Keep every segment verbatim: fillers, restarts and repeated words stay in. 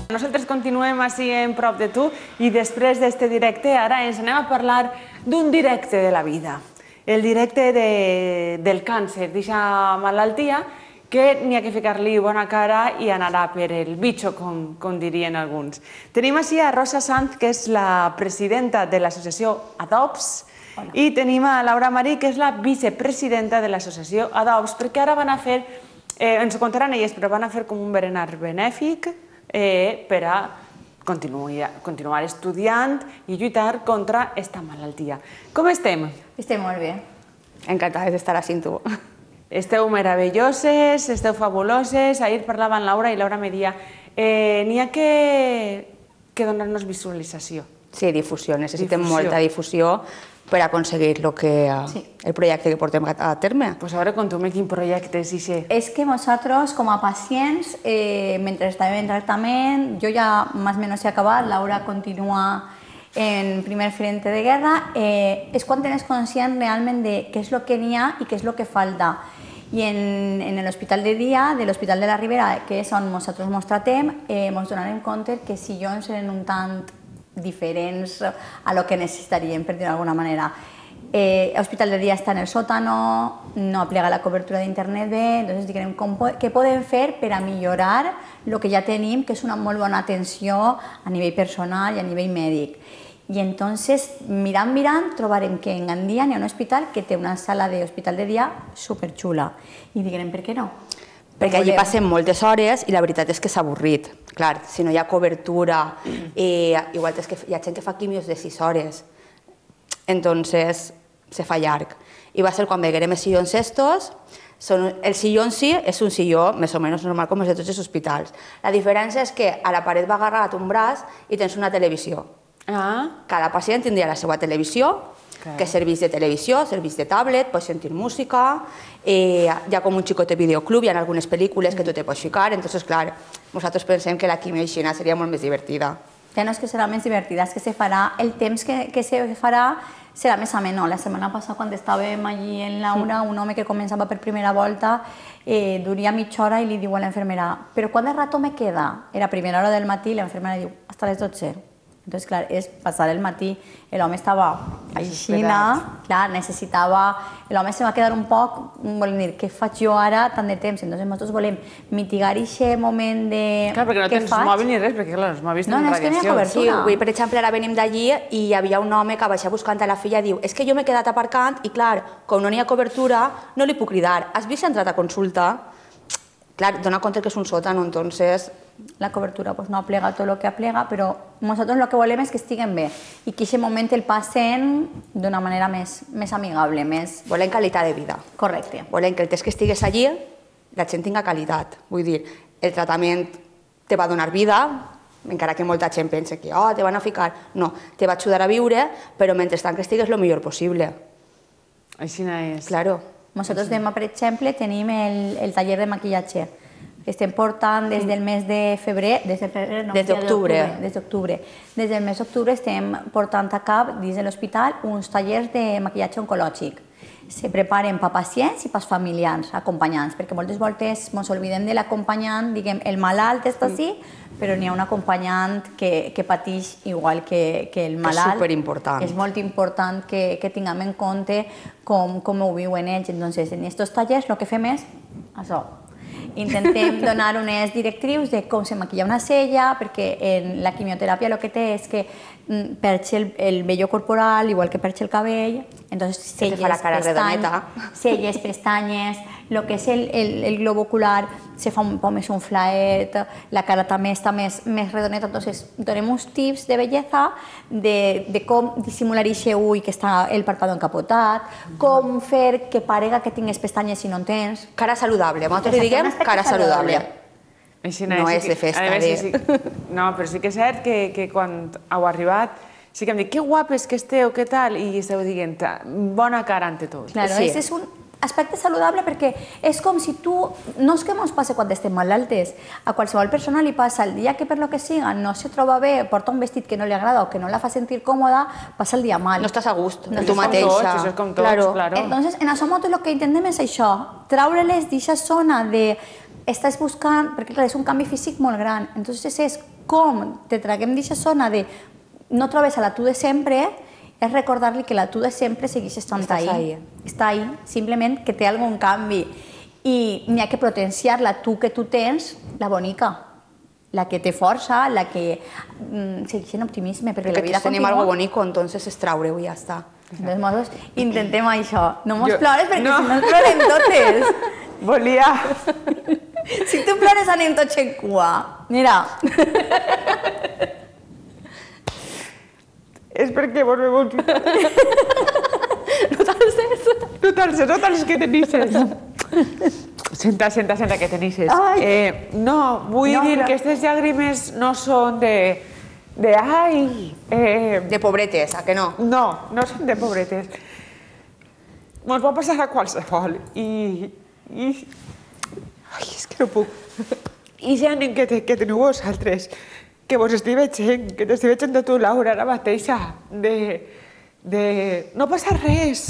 Nosaltres continuem així en prop de tu i després d'este directe ara ens anem a parlar d'un directe de la vida. El directe de, del càncer, d'aquesta malaltia que n'hi ha que ficar-li bona cara i anarà per el bitxo, com, com dirien alguns. Tenim així a Rosa Sanz, que és la presidenta de l'associació Adopts, Hola. I tenim a Laura Marí, que és la vicepresidenta de l'associació Adopts, perquè ara van a fer, eh, ens ho contaran elles, però van a fer com un berenar benèfic eh, per a continuar, continuar estudiant i lluitar contra aquesta malaltia. Com estem? Estem molt bé. Encantades d'estar així amb tu. Esteu meravelloses, esteu fabuloses. Ahir parlava amb Laura i Laura me deia eh, n'hi ha que, que donar-nos visualització. Sí, difusió. Necessitem difusió. molta difusió per aconseguir lo que, sí. el projecte que portem a terme. Pues ara conta'm quin projecte és això. És que nosaltres, com a pacients, eh, mentre estàvem en tractament, jo ja més o menys he acabat, Laura continua en primer frente de guerra, eh, és quan tens conscient realment de què és el que n'hi ha i què és el que falta. I en, en l'hospital de dia, de l'Hospital de la Ribera, que és on nosaltres ens tratem, eh, ens donarem compte que si jo ens eren un tant diferents a lo que necessitaríem, per dir-ho d'alguna manera. Eh, l'hospital de dia està en el sòtano, no aplega la cobertura d'internet bé, doncs diguem com, què podem fer per a millorar el que ja tenim, que és una molt bona atenció a nivell personal i a nivell mèdic. I entonces, mirant, mirant, trobarem que en Gandia hi ha un hospital que té una sala d'hospital de dia superxula. I diguem, per què no? Perquè allí passen moltes hores i la veritat és que s'ha avorrit. Clar, si no hi ha cobertura, eh, igual és que hi ha gent que fa quimios de sis hores, entonces se fa llarg. I va ser quan veiem els sillons estos, són, el sillón sí és un silló més o menys normal com els de tots els hospitals. La diferència és que a la paret va agarrat un braç i tens una televisió. Ah. Cada pacient tindria la seva televisió, okay. que serveix de televisió, serveix de tablet, pots sentir música, eh, hi ha com un xicot de videoclub, hi ha algunes pel·lícules que tu te pots ficar, entonces, clar, nosaltres pensem que la quimioixina seria molt més divertida. Ja no és que serà més divertida, és que se farà, el temps que, que se farà serà més ameno. La setmana passada, quan estàvem allí en Laura, un home que començava per primera volta, eh, duria mitja hora i li diu a l'infermera, però quant de rato me queda? Era primera hora del matí i l'infermera diu, hasta les dotze. Entonces, clar, és passar el matí, l'home estava aixina, clar, necessitava, l'home se va quedar un poc, volem dir, què faig jo ara tant de temps? Entonces, nosaltres volem mitigar aquest moment de... Clar, perquè no tens mòbil ni res, perquè clar, els mòbils tenen radiació. No, no, és que n'hi ha cobertura. Sí, avui, per exemple, ara venim d'allí i hi havia un home que baixa buscant a la filla i diu, és que jo m'he quedat aparcant i, clar, com no n'hi ha cobertura, no li puc cridar. Has vist si ha entrat a consulta? Clar, dona compte que és un sòtano, entonces... La cobertura no aplega tot el que aplega, però nosaltres el que volem és que estiguen bé i que en aquest moment el passen d'una manera més amigable, més... Volem qualitat de vida. Correcte. Volem que el temps que estigues allí, la gent tinga qualitat. Vull dir, el tractament te va donar vida, encara que molta gent pensa que te van a ficar... No, te va ajudar a viure, però mentrestant que estigues el millor possible. Així no és. Claro. Nosaltres demà, per exemple, tenim el taller de maquillatge. Estem portant des del mes de febrer, des de febrer, no, des d'octubre. Des d'octubre. Des del mes d'octubre estem portant a cap dins de l'hospital uns tallers de maquillatge oncològic. Se preparen per pacients i per familiars, acompanyants, perquè moltes voltes ens oblidem de l'acompanyant, diguem, el malalt està així, però n'hi ha un acompanyant que, que pateix igual que, que el malalt. És superimportant. És molt important que, que tinguem en compte com, com ho viuen ells. Entonces, en aquests tallers el que fem és això. Intentem donar unes directrius de com se maquilla una cella, perquè en la quimioteràpia el que té és que perxa el, el vello corporal, igual que perxa el cabell, entonces celles, pestanyes, celles, pestanyes, el que és el, el, el globo ocular se fa un poc més unflaet, la cara també està més, més redoneta, entonces donem uns tips de bellesa de, de com dissimular aquest ull que està el párpado encapotat, com fer que parega que tingues pestanyes si no en tens. Cara saludable, nosaltres li diguem cara saludable. No és de festa. No, però sí que és cert que quan heu arribat sí que em dic, que guapes que esteu, què tal? I esteu dient, bona cara ante tot. Claro, ese és un aspecte saludable perquè és com si tu, no és que ens passi quan estem malaltes, a qualsevol persona li passa el dia que per lo que siga no se troba bé, porta un vestit que no li agrada o que no la fa sentir còmoda, passa el dia mal. No estàs a gust, no tu mateixa. Això és com tots, claro. Entonces, en això el que intentem és això, traure-les d'aquesta zona de estàs buscant, perquè clar, és un canvi físic molt gran, entonces és com te traguem d'aquesta zona de no trobes a la tu de sempre, és recordar-li que la tu de sempre segueix estant ahí. Està ahí, simplement que té algun canvi. I n'hi ha que potenciar la tu que tu tens, la bonica, la que té força, la que segueix en optimisme, perquè la vida continua. Tenim algo bonico, entonces es traure-ho i ja està. De totes maneres, intentem això. No mos plores perquè si no ens plorem totes. Volia... Si tu plores anem tots en cua. Mira. És perquè vos me vols... No t'alces. No t'alces, no t'alces que tenisses. Senta, senta, senta que tenisses. No, vull dir que aquestes llàgrimes no són de... de ai... De pobretes, a que no? No, no són de pobretes. Mos va passar a qualsevol i... i... Ai, és que no puc. I ja anem que teniu vosaltres, que vos estic veient, que t'estic veient de tu, Laura, ara mateixa, de... de no passa res,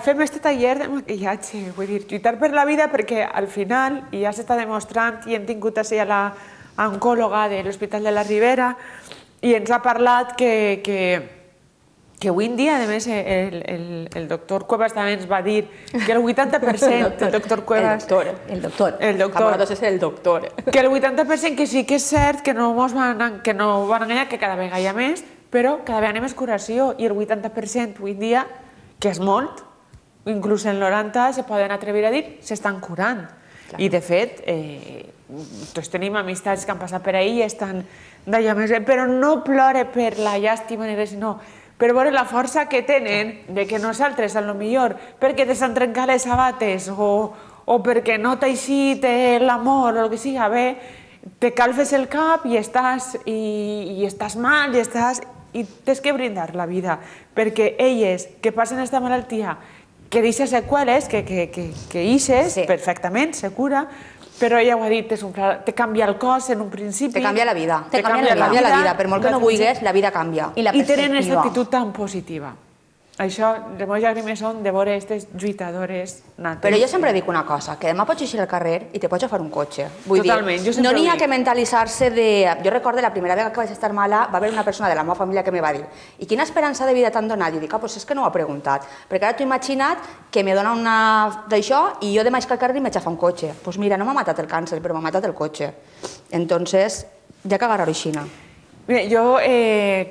fem este taller de maquillatge, vull dir, lluitar per la vida perquè al final, i ja s'està demostrant, i hem tingut així a l'oncòloga de l'Hospital de la Ribera, i ens ha parlat que que avui en dia, a més, el doctor Cuevas també ens va dir que el vuitanta per cent... El doctor Cuevas... El doctor. El doctor. És el doctor. Que el vuitanta per cent que sí que és cert que no ens van enganyar, que cada vegada hi ha més, però cada vegada hi ha més curació. I el vuitanta per cent avui en dia, que és molt, inclús el noranta se poden atrevir a dir, s'estan curant. I de fet, tots tenim amistats que han passat per ahí i estan d'allò més bé, però no plore per la llàstima ni res, sinó per veure la força que tenen de que nosaltres, a lo millor, perquè te s'han trencat les sabates o perquè no t'ha eixit l'amor o el que siga bé, te calfes el cap i estàs mal i tens que brindar la vida, perquè elles que passen aquesta malaltia, que deixa seqüeles, que ixes perfectament, se cura, però ella ho ha dit, te canvia el cos en un principi. Te canvia la vida. Te canvia la vida. Per molt que no vulguis, la vida canvia. I tenen aquesta actitud tan positiva. Això, les meves llàgrimes són de veure aquestes lluitadores nates. Però jo sempre dic una cosa, que demà pots eixir al carrer i te pots agafar un cotxe. Totalment, jo sempre ho dic. No n'hi ha que mentalitzar-se de... Jo recordo la primera vegada que vaig estar mala, va haver una persona de la meva família que me va dir i quina esperança de vida t'han donat? I dic, ah, doncs és que no ho ha preguntat. Perquè ara t'ho he imaginat que me dona una d'això i jo demà eixir al carrer i m'haig agafar un cotxe. Doncs mira, no m'ha matat el càncer, però m'ha matat el cotxe. Entonces, ja que agarrar-ho aixina. Mira, yo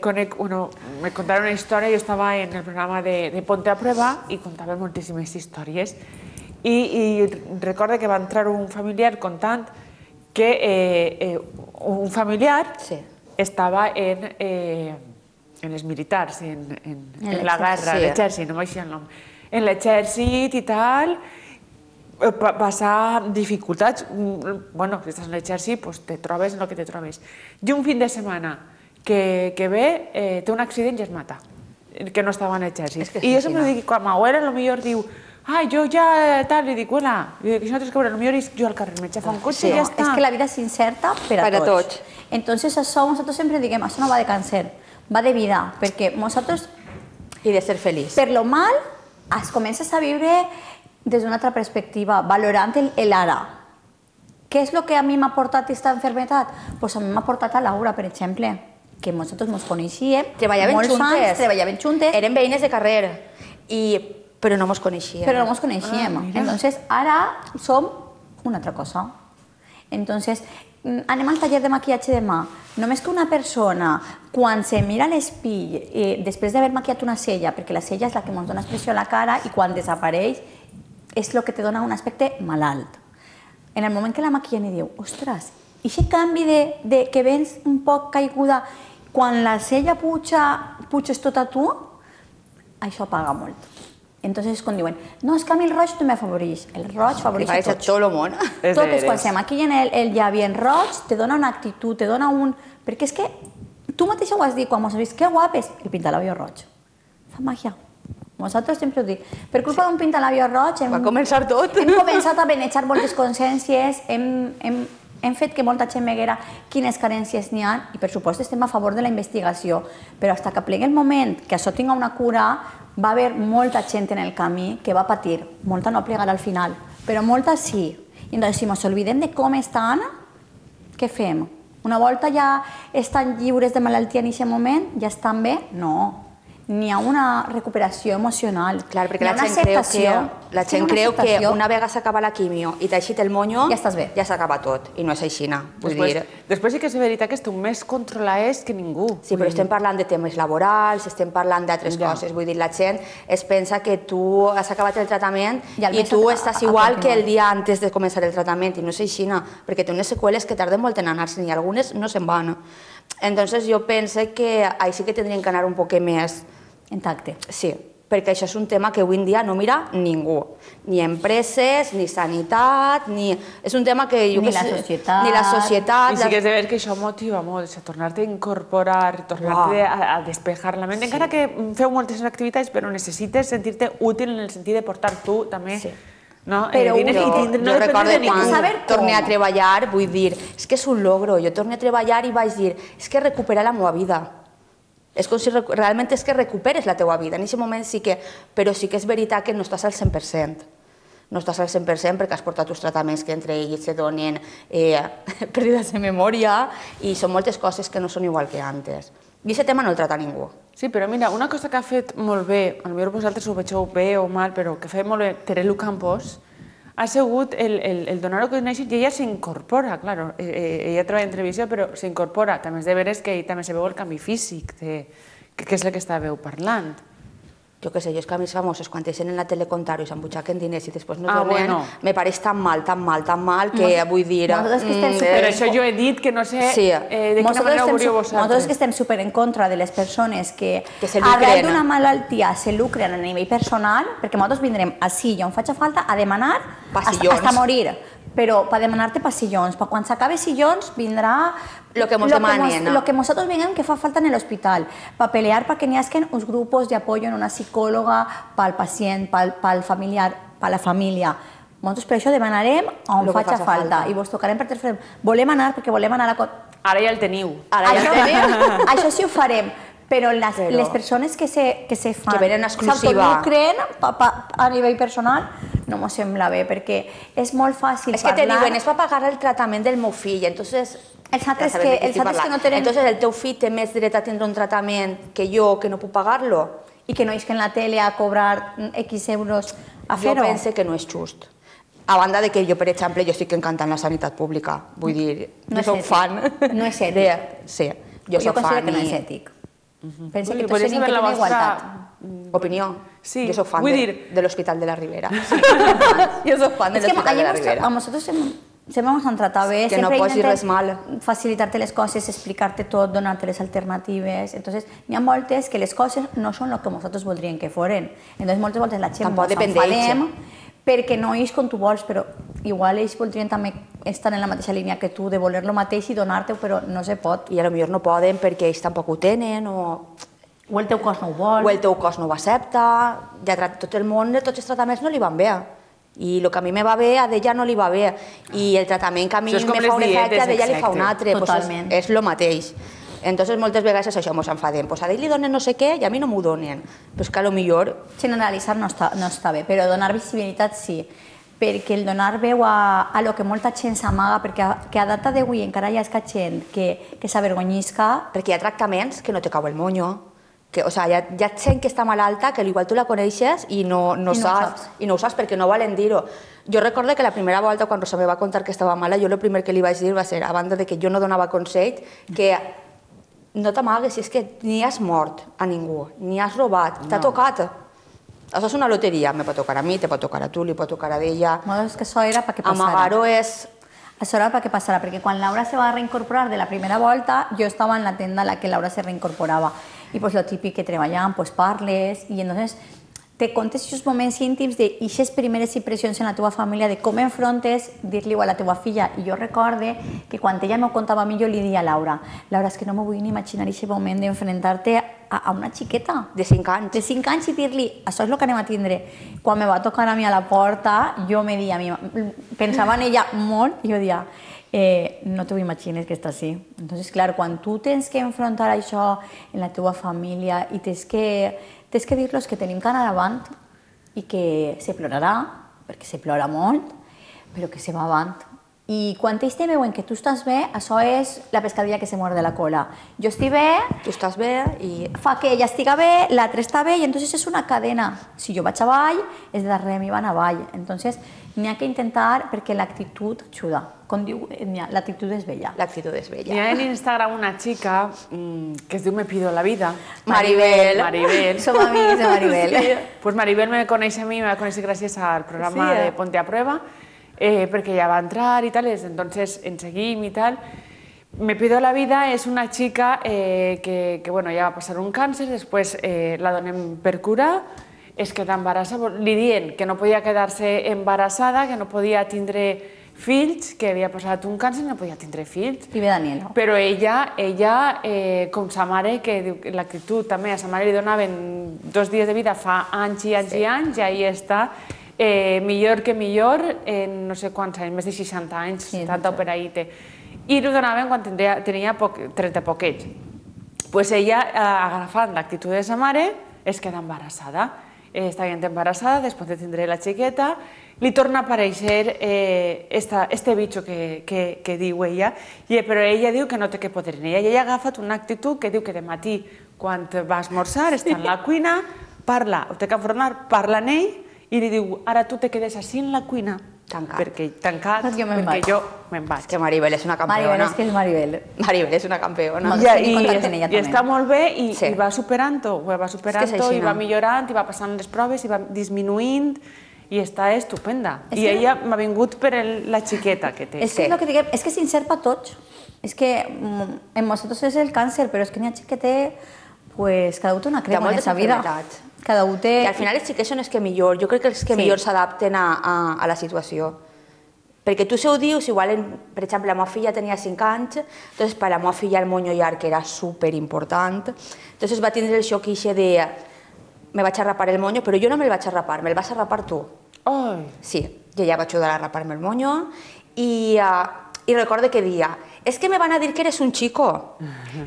conec, bueno, me contaron una història, jo estava en el programa de Ponte a Prueba i contava moltíssimes històries i recordo que va entrar un familiar contant que un familiar estava en els militars, en la guerra, l'exèrcit, no m'aixia el nom, en l'exèrcit i tal, passar dificultats, bueno, si estàs en l'exèrcit, te trobes en el que te trobes. I un fin de setmana que ve, té un accident i es mata, que no estava en l'exèrcit. I jo sempre dic, quan m'abuela potser diu, ah, jo ja tal, li dic, bueno, això no tens que veure, potser jo al carrer m'he agafat un cotxe i ja està. És que la vida és incerta per a tots. Entonces això, nosaltres sempre diguem, això no va de càncer, va de vida, perquè nosaltres... I de ser feliç. Per lo mal, es comences a viure des d'una altra perspectiva, valorant l'ara. Què és el que a mi m'ha portat aquesta malaltia? Doncs a mi m'ha portat a Laura, per exemple, que nosaltres ens coneixíem, molts anys, treballaven juntes. Eren veïnes de carrer, però no ens coneixíem. Però no ens coneixíem. Entonces, ara som una altra cosa. Entonces, anem al taller de maquillatge demà. Només que una persona, quan se mira a l'espill, després d'haver maquillat una cella, perquè la cella és la que ens dona expressió a la cara i quan desapareix és el que te dona un aspecte malalt. En el moment que la maquillen i diu, ostres, i aquest canvi de que vens un poc caiguda, quan la cella puja, puges tot a tu, això paga molt. Entonces, quan diuen, no, és que a mi el roig no m'afavoreix. El roig favoreix a tots. Tot el món. Totes, quan se maquillen el llavi en roig, te dona una actitud, te dona un... Perquè és que tu mateixa ho has dit, quan m'has vist, que guapes, el pintalabio roig. Fa màgia. Nosaltres sempre ho dic. Per culpa d'un pintalabio roig... Va començar tot. Hem començat a benejar moltes consciències, hem fet que molta gent veguera quines carències n'hi ha i, per supost, estem a favor de la investigació. Però fins que plegui el moment que això tinga una cura, va haver molta gent en el camí que va patir. Molta no plegarà al final, però molta sí. I doncs, si ens oblidem de com estan, què fem? Una volta ja estan lliures de malaltia en aquest moment, ja estan bé? No. N'hi ha una recuperació emocional. Clar, perquè la gent creu que, la gent creu que una vegada s'acaba la quimio i t'ha eixit el monyo, ja estàs bé. Ja s'acaba tot, i no és així. Després sí que és veritat que esteu més controlats que ningú. Sí, però estem parlant de temes laborals, estem parlant d'altres coses. Vull dir, la gent es pensa que tu has acabat el tractament i tu estàs igual que el dia antes de començar el tractament, i no és així, perquè té unes seqüeles que tarden molt en anar-se'n i algunes no se'n van. Entonces jo penso que ahí sí que tindrien que anar un poc més intacte. Sí, perquè això és un tema que avui en dia no mira ningú. Ni empreses, ni sanitat, ni... És un tema que... Ni la societat. Ni la societat. I sí que és de veure que això motiva molt, tornar-te a incorporar, tornar-te a despejar la ment, encara que feu moltes activitats, però necessites sentir-te útil en el sentit de portar tu també... Però jo recordo quan torné a treballar, vull dir, és que és un logro, jo torné a treballar i vaig dir, és que recuperar la meva vida. És com si realment és que recuperes la teua vida, en aquest moment sí que... Però sí que és veritat que no estàs al cent per cent. No estàs al cent per cent perquè has portat uns tractaments que entre ells se donen pèrdues de memòria i són moltes coses que no són igual que antes. I aquest tema no el trata ningú. Sí, però mira, una cosa que ha fet molt bé, potser vosaltres ho veieu bé o mal, però que ha fet molt bé Terelu Campos, ha sigut el donar-ho que conèixer i ella s'incorpora, clar, ella treballa en televisió, però s'incorpora. També és de veres que ell també se veu el canvi físic, que és el que estàveu parlant. Jo què sé, jo és que a més famosos, quan deixen en la tele contar-ho i s'embutxaquen diners i després no es donen, me pareix tan mal, tan mal, tan mal, que vull dir... Per això jo he dit que no sé de quina manera ho veuríeu vosaltres. Nosaltres que estem super en contra de les persones que arrel d'una malaltia se lucren a nivell personal, perquè nosaltres vindrem així i on faci falta a demanar hasta morir. Però per demanar-te passillons, per quan s'acabe sillons vindrà lo que ens demanen. Lo que nosaltres veiem que fa falta en l'hospital, per pelear perquè n'hi hagi uns grups d'apoyo en una psicòloga pel pacient, pel familiar, per la família. Nosaltres per això demanarem on faci falta i vos tocarem per telèfon. Volem anar perquè volem anar a... Ara ja el teniu. Ara ja el teniu. Això sí ho farem. Però les persones que se fan, s'autonucren a nivell personal, no m'ho sembla bé, perquè és molt fàcil parlar... És que te diuen, és per pagar el tractament del meu fill, entonces... Els altres que no tenen... Entonces el teu fill té més dret a tindre un tractament que jo, que no puc pagar-lo? I que no és que en la tele a cobrar X euros a fer-ho? Jo pense que no és just. A banda de que jo, per exemple, jo estic encantant la sanitat pública. Vull dir, jo soc fan... No és ètic. Sí, jo soc fan i... Jo considero que no és ètic. Penso que tots tenim que tenir igualtat. Opinió? Jo soc fan de l'Hospital de la Ribera. Jo soc fan de l'Hospital de la Ribera. A nosaltres sempre ens han tratat bé, sempre intentem facilitar-te les coses, explicar-te tot, donar-te les alternatives. Entonces, n'hi ha moltes que les coses no són el que nosaltres voldríem que foren. Entonces, moltes voltes la gent ens enfadem perquè no és com tu vols, però igual ells voldrien també estar en la mateixa línia que tu, de voler lo mateix i donar-te, però no se pot. I potser no poden perquè ells tampoc ho tenen, o... O el teu cos no ho vol. O el teu cos no ho accepta. Tot el món, tots els tractaments no li van bé. I el que a mi me va bé, a d'ella no li va bé. I el tractament que a mi me fa un efecte, a d'ella li fa un altre. Totalment. És el mateix. Entonces, moltes vegades és això, ens enfadem. Pues a ell li donen no sé què i a mi no m'ho donen. Però és que potser... Generalitzar no està bé, però donar visibilitat sí. Perquè el donar veu a lo que molta gent s'amaga, perquè a data d'avui encara hi ha gent que s'avergonyisca. Perquè hi ha tractaments que no te cau el monyo. O sigui, hi ha gent que està malalta, que igual tu la coneixes i no ho saps perquè no volen dir-ho. Jo recordo que la primera volta, quan Rosa me va contar que estava mala, jo el primer que li vaig dir va ser, a banda de que jo no donava consell, que no t'amagues, és que ni has mort a ningú, ni has robat, t'ha tocat. Això és una loteria, me pot tocar a mi, te pot tocar a tu, li pot tocar a ella. És que això era perquè passara. Amagar-ho és... Això era perquè passara, perquè quan Laura se va reincorporar de la primera volta, jo estava en la tenda en la que Laura se reincorporava. I pues lo típic que treballàvem, pues parles, i entonces te contes aquests moments íntims d'aquestes primeres impressions en la teva família, de com enfrontes dir-li a la teva filla. I jo recorde que quan ella m'ho contava a mi, jo li dia a Laura, Laura, és que no m'ho vull ni imaginar aquest moment d'enfrontar-te a una xiqueta. De cinc anys. De cinc anys i dir-li, això és el que anem a tindre. Quan me va tocar a mi a la porta, jo me dia, pensava en ella molt, i jo dia, no t'ho imagines que està així. Entonces, clar, quan tu tens que enfrontar això en la teva família i tens que tens que dir-los que tenim que anar avant i que se plorarà, perquè se plora molt, però que se va avant I quan ells te veuen que tu estàs bé, això és la pescadilla que se muerde la cola. Jo estic bé, tu estàs bé i... fa que ella estiga bé, l'altre està bé, i entonces és una cadena. Si jo vaig avall, és darrere mi van avall. Entonces, n'hi ha que intentar, perquè l'actitud ajuda. Com diu, l'actitud és bella. L'actitud és bella. Hi ha en Instagram una xica mmm, que es diu Me pido la vida. Maribel. Maribel. Som amics de Maribel. Sí. Pues Maribel me coneix a mi, me va conèixer gràcies al programa sí, eh? de Ponte a Prueba, eh, perquè ella va entrar i tal, entonces en seguim i tal. Me pido la vida és una xica eh, que, que bueno, ja va passar un càncer, després eh, la donem per curar, es queda embarassada, li dient que no podia quedar-se embarassada, que no podia tindre fills, que havia passat un càncer i no podia tindre fills. I ve Daniela. Però ella, ella eh, com sa mare, que diu que l'actitud també, a sa mare li donaven dos dies de vida fa anys i anys sí. i anys, i ahí està, eh, millor que millor, en no sé quants anys, més de seixanta anys, sí, setanta o per ahí té. I li donaven quan tenia, tenia poc, trenta poquets. Pues ella, eh, agafant l'actitud de sa mare, es queda embarassada. Eh, està bien embarassada, després de tindre la xiqueta, li torna a aparèixer eh, esta, este bicho que, que, que diu ella, i, però ella diu que no té que poder en ella. I ella ha agafat una actitud que diu que de matí, quan va a esmorzar, està en la cuina, parla, ho té que enfronar, parla en ell, i li diu, ara tu te quedes així en la cuina, tancat, perquè, tancat, jo perquè jo me'n vaig. És que Maribel és una campiona. Maribel, és que és Maribel. Maribel és una campiona. I, i, i, i està molt bé, i, sí. i va superant-ho, va superant-ho, i va millorant, i va passant les proves, i va disminuint, i està estupenda. És I que... ella m'ha vingut per el, la xiqueta que té. És que és el que diguem, és que s'inserpa tots. És que en nosaltres és el càncer, però és que n'hi ha xic que té, pues, cada un té una crema en la vida. Cada un té... I al final els xiquets són els que millor, jo crec que els que sí. millor s'adapten a, a, a la situació. Perquè tu se ho dius, igual, en, per exemple, la meva filla tenia cinc anys, entonces per la meva filla el monyo llarg era superimportant, entonces va tindre el xoc ixe de me vaig a rapar el monyo, però jo no me'l vaig a rapar, me'l vas a rapar tu. Oh. Sí, jo ja vaig ajudar a rapar-me el monyo i, uh, i recordo que dia, és que me van a dir que eres un chico.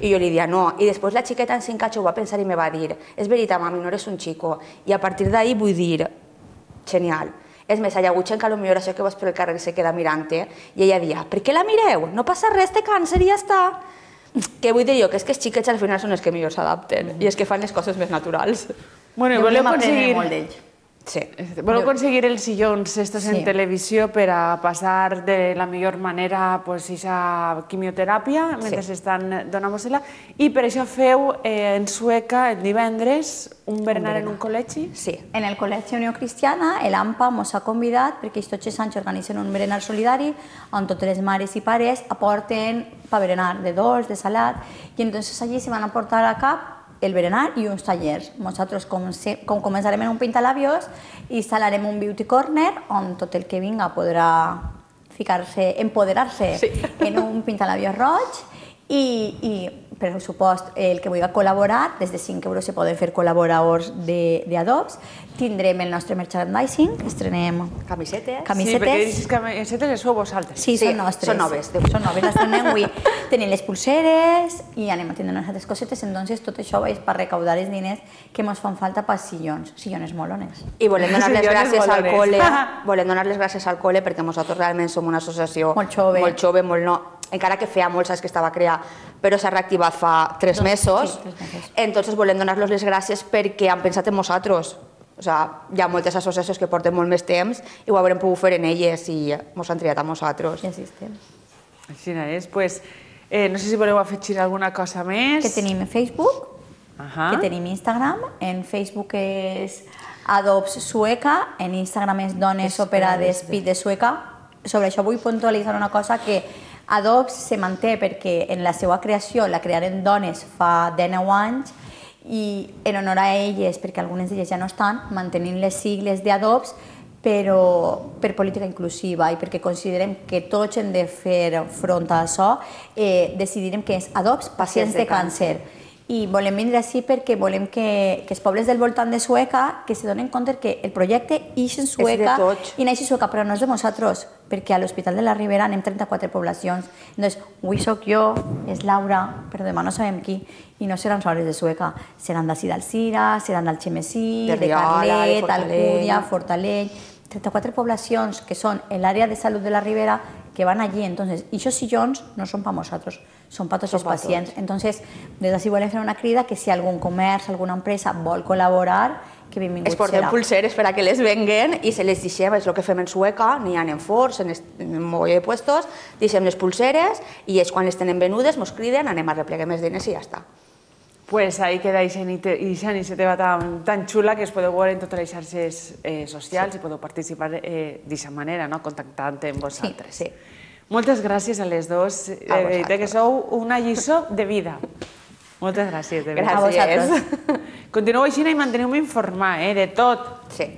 I jo li dia, no. I després la xiqueta en cinc anys ho va pensar i me va dir, és veritat, mami, no eres un chico. I a partir d'ahí vull dir, genial. És més, hi ha hagut gent que potser això que vas per el carrer se queda mirant-te i ella dia, per què la mireu? No passa res, té càncer i ja està. Què vull dir jo? Que és que els xiquets al final són els que millor s'adapten i és que fan les coses més naturals. Bueno, i voleu aconseguir... molt d'ells. Sí. Voleu aconseguir els sillons estos sí. en televisió per a passar de la millor manera pues, esa quimioteràpia mentre sí. estan donant-vos-la, i per això feu eh, en Sueca el divendres un berenar en un col·legi? Sí. En el Col·legi Unió Cristiana, l'AMPA ens ha convidat perquè tots els anys organitzen un berenar solidari on totes les mares i pares aporten pa berenar de dolç, de salat, i entonces allí se van a portar a cap el berenar i uns tallers. Nosaltres, com, se, com començarem en un pintalabios, instal·larem un beauty corner on tot el que vinga podrà ficar-se, empoderar-se sí. en un pintalabios roig i, i per supost, el que vulgui col·laborar, des de cinc euros se poden fer col·laboradors d'Adobs. Tindrem el nostre merchandising, estrenem camisetes. camisetes. Sí, perquè aquestes camisetes les sou vosaltres. Sí, són nostres. Són noves. Són noves, les estrenem avui. Tenim les pulseres i anem a tindre unes altres cosetes, entonces tot això és per recaudar els diners que ens fan falta per sillons, sillones molones. I volem donar les gràcies al col·le, volem donar les gràcies al col·le perquè nosaltres realment som una associació molt jove, molt jove, molt no, encara que feia molts anys que estava creada, però s'ha reactivat fa tres mesos. Sí, tres mesos. Entonces volem donar-los les gràcies perquè han pensat en nosaltres. O sea, hi ha moltes associacions que porten molt més temps i ho haurem pogut fer en elles i ens han triat a nosaltres. Ja existem. Així és. Pues, eh, no sé si voleu afegir alguna cosa més. Que tenim Facebook, Ajá. que tenim Instagram. En Facebook és Adobs Sueca, en Instagram és Dones Operades Pit de Sueca. Sobre això vull puntualitzar una cosa que Adobs se manté perquè en la seva creació la crearen dones fa dinou anys i en honor a elles, perquè algunes d'elles ja no estan, mantenint les sigles d'Adobs, però per política inclusiva i perquè considerem que tots hem de fer front a això, eh, decidirem que és Adobs Pacients de Càncer. I volem vindre així perquè volem que, que els pobles del voltant de Sueca que se donen compte que el projecte ix en Sueca i naix en Sueca, però no és de nosaltres, perquè a l'Hospital de la Ribera anem trenta-quatre poblacions. Entonces, avui soc jo, és Laura, però demà no sabem qui, i no seran soles de Sueca, seran d'ací d'Alzira, seran d'Algemesí, de Carlet, Alcúdia, Fortaleny, trenta-quatre poblacions que són l'àrea de salut de la Ribera que van allí. Entonces, esos sillones no son para nosotros, son para tots els pacients. Entonces, des d'ací volem fer una crida que si algun comerç, alguna empresa vol col·laborar, que benvingut serà. Es porten pulseres per a que les venguen i se les deixem, és el que fem en Sueca, n'hi ha en Forts, en un mogolló de puestos, deixem les pulseres i ells quan les tenen venudes ens criden, anem a replegar més diners i ja està. Pues ahí queda aquesta iniciativa tan, tan xula que es podeu veure en totes les xarxes eh, socials sí. i podeu participar eh, d'aquesta manera, no? Contactant amb vosaltres. Sí, sí. Moltes gràcies a les dues, de veritat que sou una lliçó de vida. Moltes gràcies, de veritat. Gràcies. Continueu així i manteneu-me informar, eh, de tot. Sí.